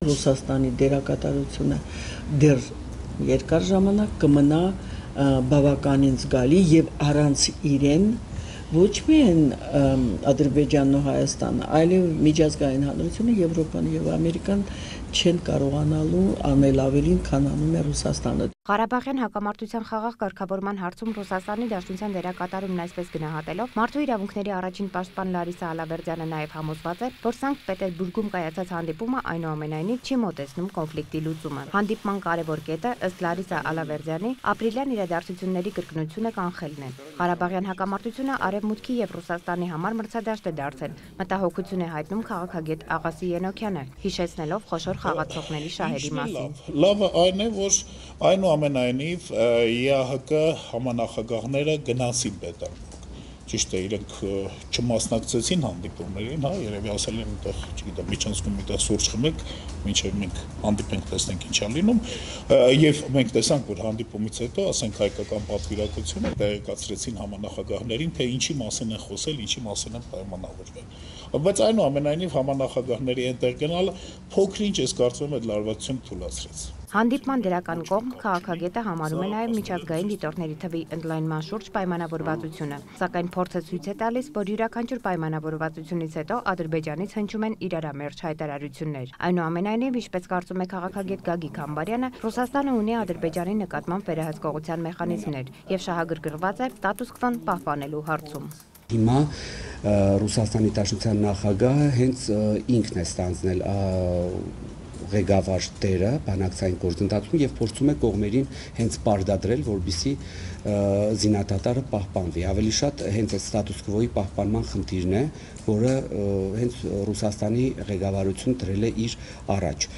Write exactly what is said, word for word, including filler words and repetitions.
Ռուսաստանի դերակատարությունը դեռ երկար ժամանակ կմնա բավականին զգալի եւ առանց իրեն ոչ միայն Ադրբեջանն ու Հայաստանը, այլև միջազգային հանրությունը, Եվրոպան եւ Ամերիկան չեն կարողանալու անել ավելին, քան անում է Ռուսաստանը։ Ղարաբաղյան հակամարտության խաղաղ կարգավորման հարցում Ռուսաստանի Դաշնության դերակատարումն այսպես գնահատելով, Մարդու իրավունքների առաջին պաշտպան Լարիսա Ալավերդյանը նաև համոզված է, որ Սանկտ Պետերբուրգում կայացած հանդիպումը այնուամենայնիվ չի մոտեցնում կոնֆլիկտի լուծումը։ Հանդիպման կարևոր կետը, ըստ Լարիսա Ալավերդյանի, ապրիլյան իրադարձությունների կրկնությունը կանխելն է։ Ղարաբաղյան հակամարտությունը Արևմուտքի եւ Ռուսաստանի համար մրցադաշտ է դարձել, մտահոգություն է հայտնում քաղաքագետ Աղասի Ենոքյանը, հիշեցնելով խոշոր խաղացողների շահերի մասին։ Լավը այն է, որ այնուամենայնիվ ԵԱՀԿ համանախագահները գնացին Պետերբուրգ։ Ճիշտ է, իրենք չմասնակցեցին հանդիպումներին, հա, երևի ասել են այնտեղ, չգիտեմ, միջանցքում միտեղ սուրճ խմեք, մինչև մենք հանդիպենք, տեսնենք ինչ է լինում, եւ մենք տեսանք, որ հանդիպումից հետո, ասենք հայկական պատվիրակությունը տեղեկացրեցին համանախագահներին, թե ինչի մասին են խոսել, ինչի մասին են պայմանավորվել։ Բայց այնուամենայնիվ համանախագահների այնտեղ գնալը փոքր-ինչ ես կարծում եմ այդ լարվածությունը թույլատրեց։ Հանդիպման դրական կողմ քաղաքագետը համարում է նաև միջազգային դիտորդների թվի ընդլայնման շուրջ պայմանավորվածությունը, սակայն փորձը ցույց է տալիս, որ յուրաքանչյուր պայմանավորվածությունից հետո Ադրբեջանից հնչում են իրարամերժ հայտարարություններ։ Այնուամենայնիվ, ինչպես կարծում է քաղաքագետ Գագիկ Համբարյանը, Ռուսաստանը ունի Ադրբեջանի նկատմամբ վերահսկողության մեխանիզմներ եւ շահագրգռված է ստատուս քվոն պահպանելու հարցում։ Հիմա Ռուսաստանի Դաշնության նախագահը հենց ինքն է ստանձնել ղեկավար տերը բանակցային գործընթացում եւ փորձում է կողմերին հենց պարտադրել, որպեսզի զինադատարը պահպանվի։ Ավելի շատ հենց այդ ստատուս քվոյի պահպանման խնդիրն է, որը հենց Ռուսաստանի ղեկավարությունը դրել է իր առաջ։